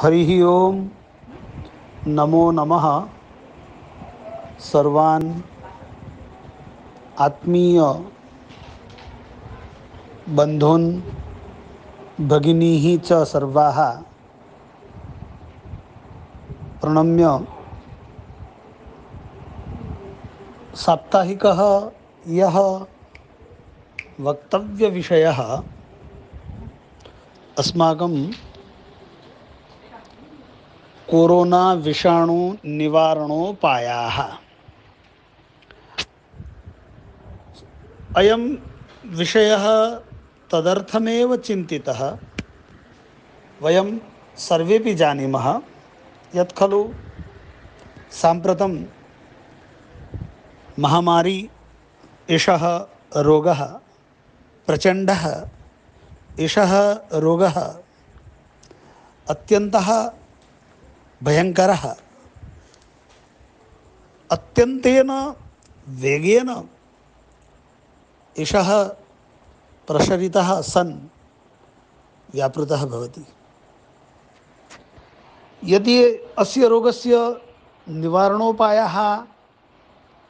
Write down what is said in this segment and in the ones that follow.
हरिः ओम नमो नमः। सर्वान् आत्मीय बन्धून् भगिनीः च सर्वाः प्रणम्य साप्ताहिकः यः वक्तव्यविषयः अस्माकं कोरोना विषाणु निवारणोपायाः। अयं विषयः तदर्थमेव चिन्तितः। वयं सर्वेपि जानीमः यत् खलु साम्प्रतं महामारी एषः रोगः प्रचण्डः एषः रोगः अत्यन्तः भयङ्करः, अत्यन्तेन वेगेन एषः प्रसरितः सन् व्यापृतः भवति। यदि अस्य रोगस्य निवारणोपायः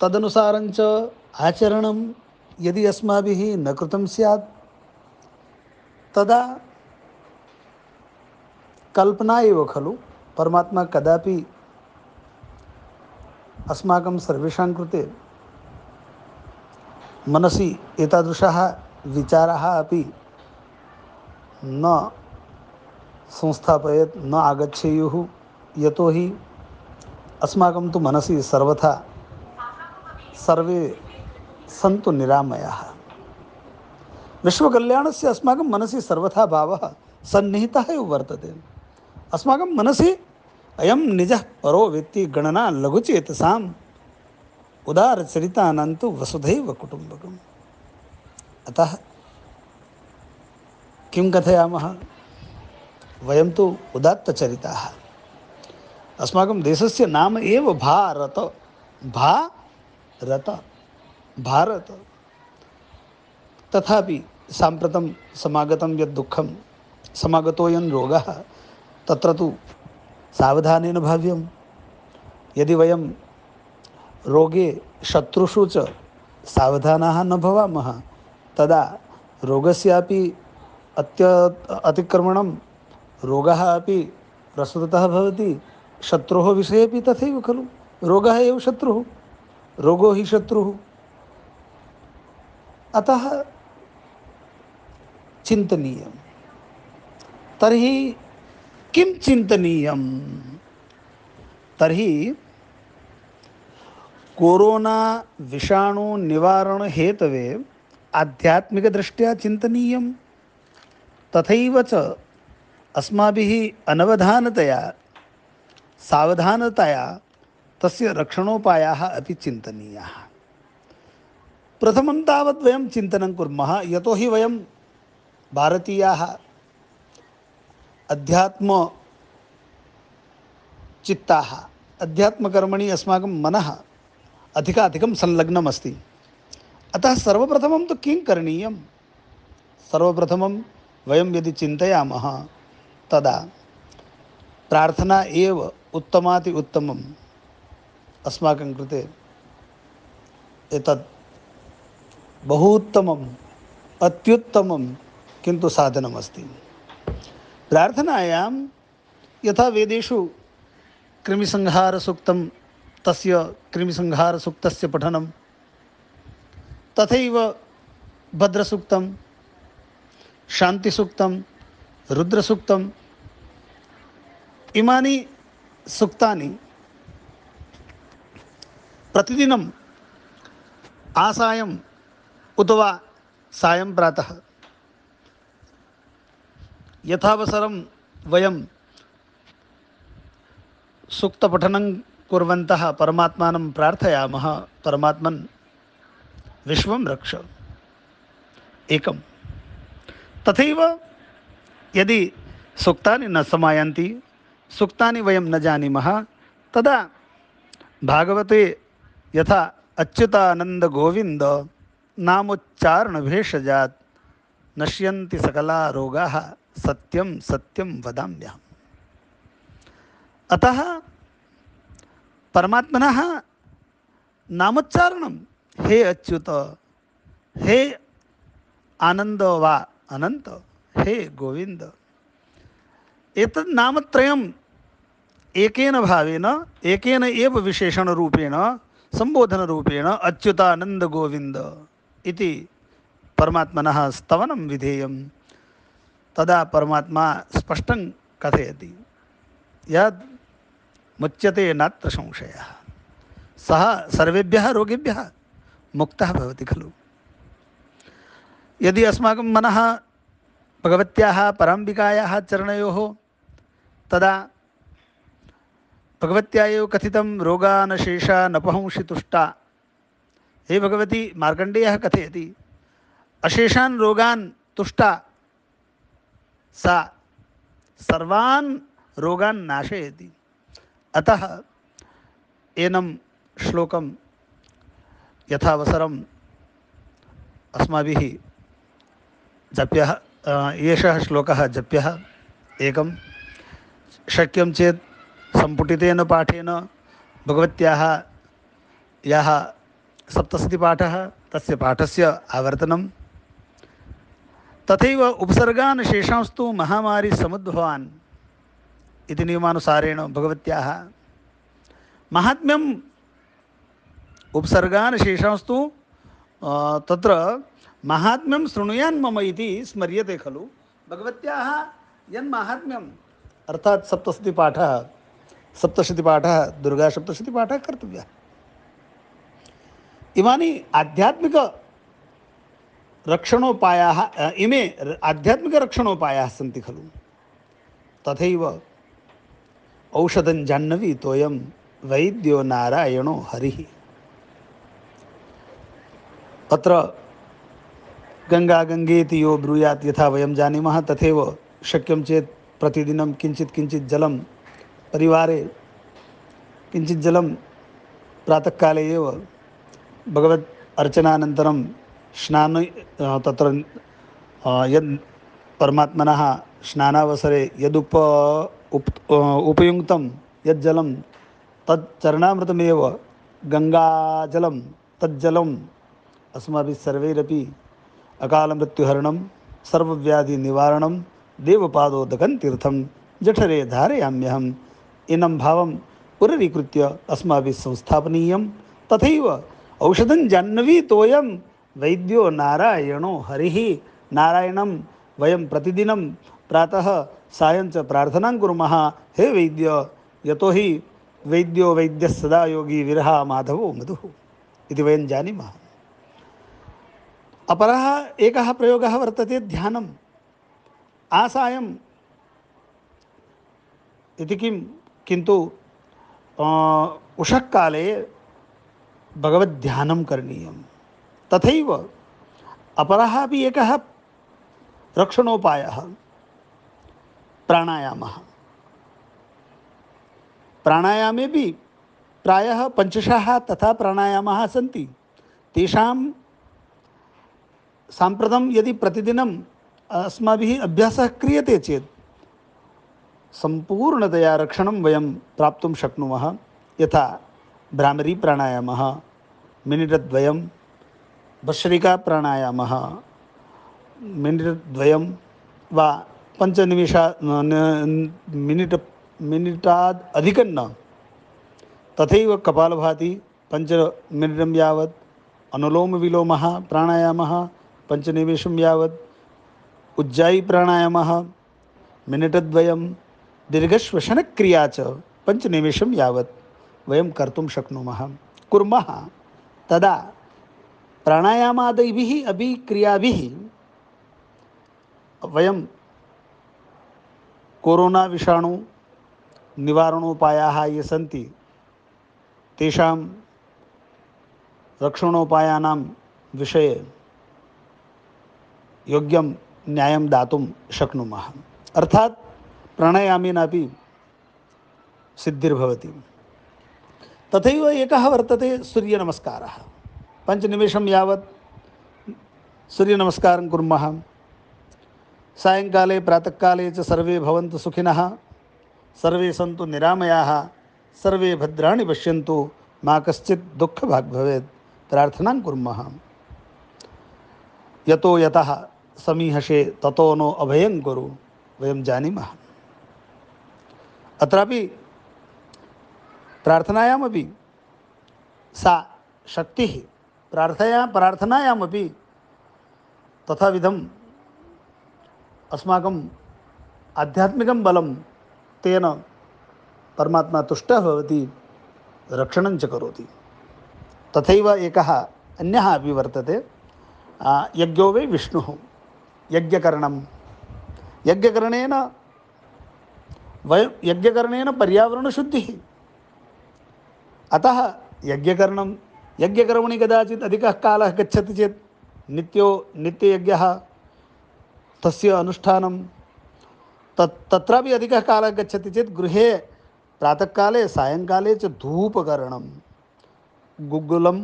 तदनुसारञ्च आचरणं यदि अस्माभिः न कृतं स्यात् तदा कल्पना एव खलु। परमात्मा कदापि अस्माकं सर्वेषां कृते मनसि एतादृशाः विचाराः अपि न संस्थापयेत्, न आगच्छेयुः। यतोहि अस्माकं तु मनसि सर्वथा सर्वे सन्तु निरामयाः। विश्वकल्याणस्य अस्माकं मनसि सर्वथा भावः सन्निहितः एव वर्तते। अस्माकं मनसि अयं निजः परो वेत्ति गणना लघुचेतसाम् उदारचरितानां तु वसुधैव कुटुम्बकम्। अतः किं कथयामः, वयं तु उदात्तचरिताः। अस्माकं देशस्य नाम एव भारत। भारत भारत। तथापि साम्प्रतं समागतं यद् दुःखं, समागतोऽयं रोगः, तत्र तु सावधानेन भाव्यं। यदि वयं रोगे शत्रुषु च सावधानाः न भवामः तदा रोगस्यापि अतिक्रमणं, रोगः अपि प्रसृतः भवति। शत्रोः विषयेपि तथैव खलु। रोगः एव शत्रुः, रोगो हि शत्रुः। अतः चिन्तनीयं। तर्हि किं चिन्तनीयं? तर्हि कोरोना विषाणु निवारण हेतवे आध्यात्मिकदृष्ट्या चिन्तनीयं। तथैव च अस्माभिः अनवधानतया सावधानतया तस्य रक्षणोपायाः अपि चिन्तनीयाः। प्रथमं तावत् वयं चिन्तनं कुर्मः, यतोहि वयं भारतीयाः अध्यात्मचित्ताः। अध्यात्मकर्मणि अस्माकं मनः अधिकाधिकं संलग्नमस्ति। अतः सर्वप्रथमं तु किं करणीयं? सर्वप्रथमं वयं यदि चिन्तयामः तदा प्रार्थना एव उत्तमाति उत्तमम् अस्माकं कृते एतत् बहु उत्तमम्, अत्युत्तमं किन्तु साधनमस्ति। प्रार्थनायां यथा वेदेषु कृमिसंहारसूक्तं, तस्य कृमिसंहारसूक्तस्य पठनं, तथैव भद्रसूक्तं, शान्तिसूक्तं, रुद्रसूक्तं, इमानि सूक्तानि प्रतिदिनं आसायम् उत वा सायं प्रातः यथावसरं वयं सूक्तपठनं कुर्वन्तः परमात्मानं प्रार्थयामः, परमात्मन् विश्वं रक्ष एकं। तथैव यदि सूक्तानि न समायान्ति, सूक्तानि वयं न जानीमः, तदा भागवते यथा अच्युतानंद गोविंद नामोच्चारणभेषजात् नश्यन्ति सकला रोगाः सत्यं सत्यं वदाम्यहम्। अतः परमात्मनः नामोच्चारणं हे अच्युत, हे आनंद वा अनंत, हे गोविंद, एतत् नामत्रयम् एकेन भावेन एकेन एव विशेषण रूपेण संबोधन रूपेण अच्युतानंद गोविंद इति परमात्मनः स्तवनं विधेयं। तदा परमात्मा स्पष्टं कथयति, यद् मुच्यते नात्र संशयः, सः सर्वेभ्यः रोगेभ्यः मुक्तः भवति खलु। यदि अस्माकं मनः भगवत्याः पराम्बिकायाः चरणयोः, तदा भगवत्या एव कथितं रोगानशेषा नपहंसि तुष्टा। हे भगवती, मार्कण्डेयः कथयति, अशेषान् रोगान् तुष्टा सा सर्वान् रोगान् नाशयति। अतः एनं श्लोकं यथावसरम् अस्माभिः जप्यः, एषः श्लोकः जप्यः। एकं शक्यं चेत् सम्पुटितेन पाठेन भगवत्याः यः सप्तशतीपाठः तस्य पाठस्य आवर्तनं, तथैव उपसर्गान् शेषांस्तु महामारी समुद्भवान् इति नियमानुसारेण भगवत्याः महात्म्यम् उपसर्गान् शेषांस्तु तत्र महात्म्यं शृणुयान् मम इति स्मर्यते खलु। भगवत्याः यन्माहात्म्यम् अर्थात् सप्तशतीपाठः दुर्गासप्तशतीपाठः कर्तव्यः। इमानि आध्यात्मिकरक्षणोपायाः, इमे आध्यात्मिकरक्षणोपायाः सन्ति खलु। तथैव औषधं जाह्नवी तोयं वैद्यो नारायणो हरिः। अत्र गंगा गंगेति यो ब्रूयात् यथा वयं जानीमः, तथैव शक्यं चेत् प्रतिदिनं किञ्चित् जलं परिवारे, किञ्चित् जलं प्रातःकाले एव भगवत् अर्चनानन्तरं स्नान तत्र यद् परमात्मनः स्नानावसरे उपयुक्तं यद् जलं तत् चरणामृतमेव गङ्गाजलं, तज्जलम् अस्माभिः सर्वैरपि अकालमृत्युहरणं सर्वव्याधिनिवारणं देवपादोदकं तीर्थं जठरे धारयाम्यहम् इनं भावं पुनरीकृत्य अस्माभिः संस्थापनीयं। तथैव औषधं जाह्नवी तोयं वैद्यो नारायणो हरिः। नारायणं वयं प्रतिदिनं प्रातः सायं च प्रार्थनां कुर्मः, हे वैद्य, यतो हि वैद्यो वैद्यः सदा योगी विरहा माधवो मधुः इति वयं जानीमः। अपरः एकः प्रयोगः वर्तते ध्यानम् आसायम् इति किन्तु उषःकाले भगवद्ध्यानं करणीयं। तथैव अपरः अपि एकः रक्षणोपायः प्राणायामः। प्राणायामेपि प्रायः पञ्चशः तथा प्राणायामाः सन्ति। तेषां साम्प्रतं यदि प्रतिदिनं अस्माभिः अभ्यासः क्रियते चेत् सम्पूर्णतया रक्षणं वयं प्राप्तुं शक्नुमः। यथा भ्रामरी प्राणायामः मिनिटद्वयं, भस्त्रिका प्राणायामः मिनिटद्वयं वा मिनिटाद् अधिकं न। तथैव कपालभाति 5 मिनिटं यावत्, अनुलोमविलोमः प्राणायामः 5 निमेषं यावत्, उज्जायी प्राणायामः मिनिटद्वयं, दीर्घश्वसनक्रिया च 5 निमेषं यावत् वयं कर्तुं शक्नुमः, कुर्मः। तदा प्राणायामादिभिः अपि क्रियाभिः वयं कोरोना विषाणु निवारणोपायाः ये सन्ति तेषां रक्षणोपायानां विषये योग्यं न्यायं दातुं शक्नुमः। अर्थात् प्राणायामेनापि सिद्धिर्भवति। तथैव एकः वर्तते सूर्यनमस्कारः। 5 निमेषं यावत् सूर्यनमस्कारं कुर्मः। सायङ्काले प्रातःकाले च सर्वे भवन्तु सुखिनः। सर्वे सन्तु निरामयाः, सर्वे भद्राणि पश्यन्तु, मा कश्चित् दुःखभाग् भवेत्। प्रार्थनां कुर्मः। यतो यतः समीहसे ततो नो अभयं कुरु, वयं जानीमः। अत्रापि प्रार्थनायामपि सा शक्तिः, प्रार्थनायामपि तथाविधम् अस्माकम् आध्यात्मिकं बलं तेन परमात्मा तुष्टः भवति, रक्षणं च करोति। तथैव एकः अन्यः अपि वर्तते, यज्ञो वै विष्णुः। यज्ञकरणं, यज्ञकरणेन पर्यावरणशुद्धिः। अतः यज्ञकर्मणि कदाचित् अधिकः कालः गच्छति चेत् नित्ययज्ञः, तस्य अनुष्ठानं तत्रापि अधिकः कालः गच्छति चेत् गृहे प्रातःकाले सायङ्काले च धूपकरणं, गुग्गुलं,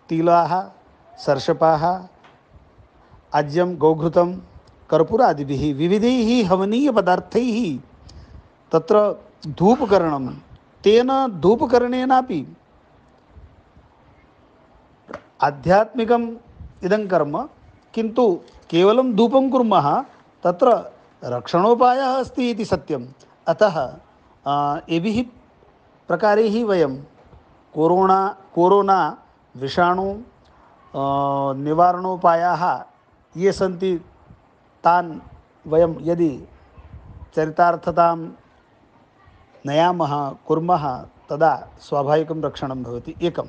तिलाः, सर्षपाः, आज्यं, गोघृतं, कर्पूरादिभिः विविधैः हवनीयपदार्थैः तत्र धूपकरणं, तेन धूपकरणेनापि आध्यात्मिकम् इदं कर्म, किन्तु केवलं धूपं कुर्मः तत्र रक्षणोपायः अस्ति इति सत्यम्। अतः एभिः प्रकारैः वयं कोरोना विषाणु निवारणोपायाः ये सन्ति तान् वयं यदि चरितार्थतां नयामः, कुर्मः, तदा स्वाभाविकं रक्षणं भवति एकं।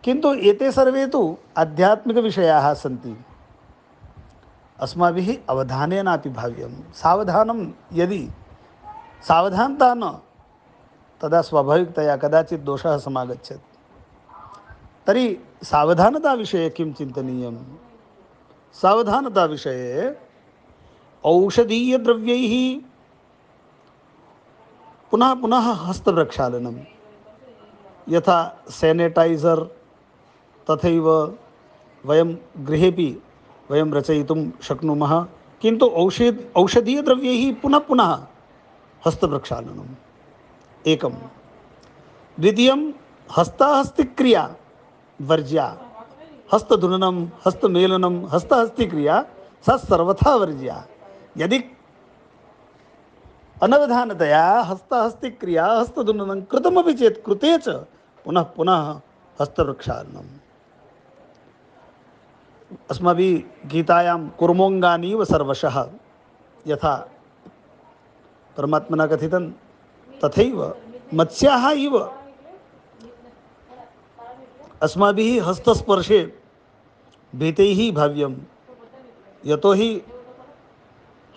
किन्तु एते सर्वे तु आध्यात्मिकविषयाः सन्ति, अस्माभिः अवधानेनापि भाव्यं। यदि सावधानता न, तदा स्वाभाविकतया कदाचित् दोषः समागच्छेत्। तर्हि सावधानताविषये किं चिन्तनीयं? सावधानताविषये औषधीयद्रव्यैः पुनः पुनः हस्तप्रक्षालनं, यथा सैनिटैज़र्, तथैव वयं गृहेपि वयं रचयितुं शक्नुमः। किन्तु औषधीयद्रव्यैः पुनः पुनः हस्तप्रक्षालनम् एकं। द्वितीयं, हस्ताहस्तिक्रिया वर्ज्या। हस्तधुननं, हस्तमेलनं, हस्तहस्तिक्रिया सा सर्वथा वर्ज्या। यदि अनवधानतया हस्तहस्तिक्रिया, हस्तधुननं कृतमपि चेत् कृते च पुनः पुनः हस्तप्रक्षालनम्। अस्माभिः गीतायां कुर्मोऽङ्गानीव सर्वशः यथा परमात्मना कथितं, तथैव मत्स्याः इव अस्माभिः हस्तस्पर्शे भीतैः भाव्यं। यतोहि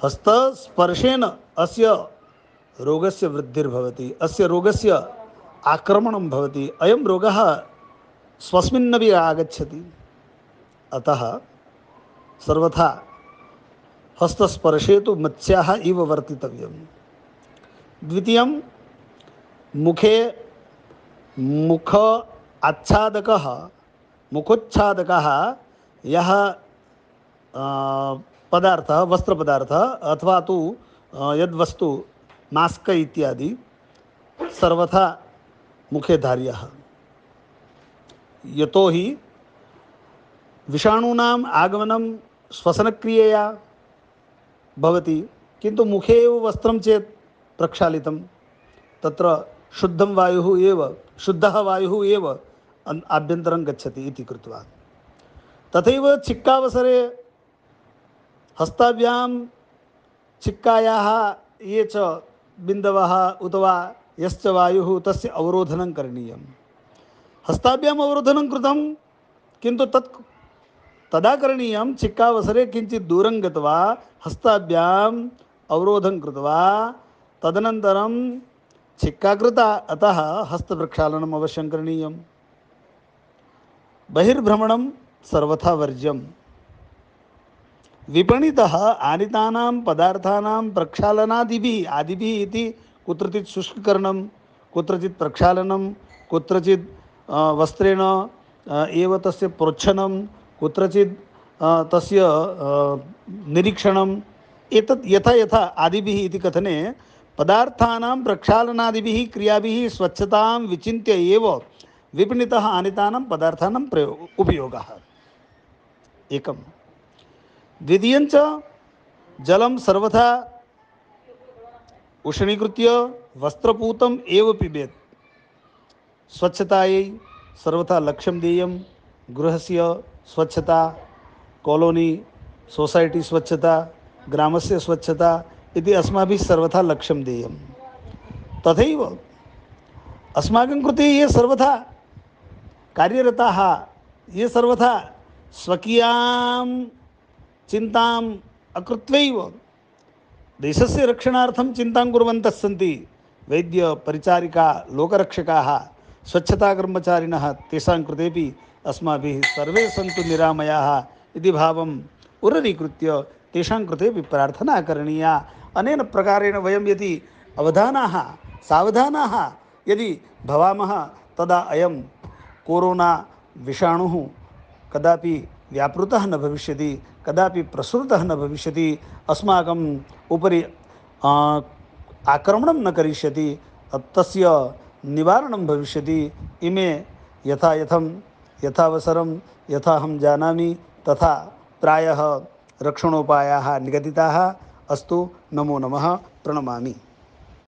हस्तस्पर्शेन अस्य रोगस्य वृद्धिर्भवति, अस्य रोगस्य आक्रमणं भवति, अयं रोगः स्वस्मिन्नपि आगच्छति। अतः सर्वथा हस्तस्पर्शे तु मत्स्याः इव वर्तितव्यं। द्वितीयं, मुखोच्छादकः यः पदार्थः, वस्त्रपदार्थः अथवा तु यद्वस्तु मास्क इत्यादि सर्वथा मुखे धार्यः। यतोहि विषाणूनाम् आगमनं श्वसनक्रियया भवति, किन्तु मुखे एव वस्त्रं चेत् प्रक्षालितं, तत्र शुद्धः वायुः एव आभ्यन्तरं गच्छति इति कृत्वा। तथैव छिक्कावसरे हस्ताभ्यां छिक्कायाः ये च बिन्दवः उत वा यश्च वायुः तस्य अवरोधनं करणीयं। हस्ताभ्याम् अवरोधनं कृतं, किन्तु तदा करणीयं छिक्कावसरे किञ्चित् दूरं गत्वा हस्ताभ्याम् अवरोधं कृत्वा तदनन्तरं छिक्का कृता, अतः हस्तप्रक्षालनम् अवश्यं करणीयं। बहिर्भ्रमणं सर्वथा वर्ज्यं। विपणितः आनीतानां पदार्थानां प्रक्षालनादिभिः इति कुत्रचित् शुष्ककरणं, कुत्रचित् प्रक्षालनं, कुत्रचित् वस्त्रेण एव तस्य प्रोच्छनं, कुत्रचित् तस्य निरीक्षणम्, एतत् यथा यथा आदिभिः इति कथने पदार्थानां प्रक्षालनादिभिः क्रियाभिः स्वच्छतां विचिन्त्य एव विपणितः आनीतानां पदार्थानां उपयोगः एकं। द्वितीयञ्च जलं सर्वथा उष्णीकृत्य वस्त्रपूतम् एव पिबेत्। स्वच्छतायै सर्वथा लक्ष्यं देयं। गृहस्य स्वच्छता, कॉलोनी सोसैटी स्वच्छता, ग्रामस्य स्वच्छता इति अस्माभिः सर्वथा लक्ष्यं देयं। तथैव अस्माकं कृते ये सर्वथा कार्यरताः, ये सर्वथा स्वकीयां चिन्ताम् अकृत्वैव देशस्य रक्षणार्थं चिन्तां कुर्वन्तः सन्ति, वैद्य, परिचारिका, लोकरक्षकाः, स्वच्छताकर्मचारिणः, तेषां कृतेपि अस्माभिः सर्वे सन्तु निरामयाः इति भावम् उररीकृत्य तेषां कृतेपि प्रार्थना करणीया। अनेन प्रकारेण वयं यदि अवधानाः सावधानाः यदि भवामः तदा अयं कोरोना विषाणुः कदापि व्यापृतः न भविष्यति, कदापि प्रसृतः न भविष्यति, अस्माकम् उपरि आक्रमणं न करिष्यति, तस्य निवारणं भविष्यति। इमे यथावसरं यथाहं जानामि तथा प्रायः रक्षणोपायाः निगदिताः। अस्तु, नमो नमः, प्रणमामि।